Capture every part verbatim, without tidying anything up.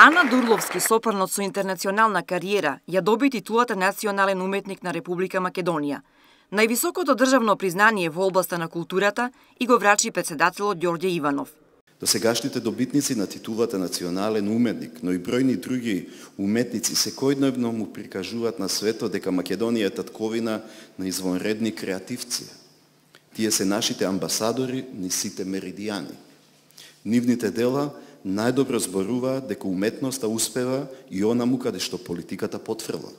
Ана Дурловски, сопрано со интернационална кариера, ја доби титулата Национален уметник на Република Македонија. Највисокото државно признание во областа на културата и го врачи претседателот Ѓорѓе Иванов. Досегашните добитници на титулата Национален уметник, но и бројни други уметници секојдневно му прикажуваат на светот дека Македонија е татковина на извонредни креативци. Тие се нашите амбасадори низ сите меридијани. Нивните дела најдобро зборуваат дека уметноста успева и онаму каде што политиката потфрла.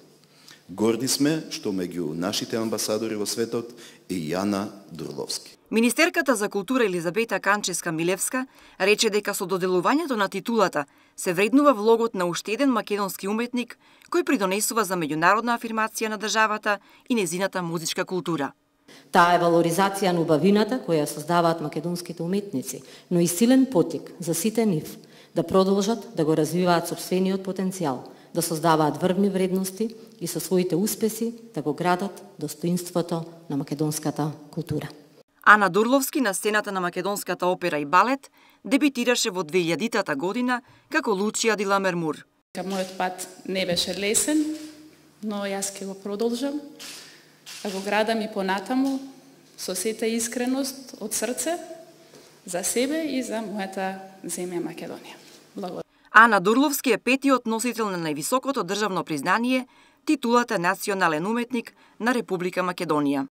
Горди сме што меѓу нашите амбасадори во светот е и Ана Дурловски. Министерката за култура Елизабета Канчевска-Милевска рече дека со доделувањето на титулата се вреднува влогот на уште еден македонски уметник кој придонесува за меѓународна афирмација на државата и незината музичка култура. Таа е валоризација на убавината која создаваат македонските уметници, но и силен поттик за сите нив да продолжат да го развиваат сопствениот потенцијал, да создаваат врвни вредности и со своите успеси да го градат достоинството на македонската култура. Ана Дурловски на сцената на македонската опера и балет дебитираше во две илјадитата година како Лучија ди Ламермур. Мојот пат не беше лесен, но јас ќе го продолжам, да го градам и понатаму со сета искреност од срце за себе и за мојата земја Македонија. Благодарам. Ана Дурловски е петиот носител на највисокото државно признание, титулата Национален уметник на Република Македонија.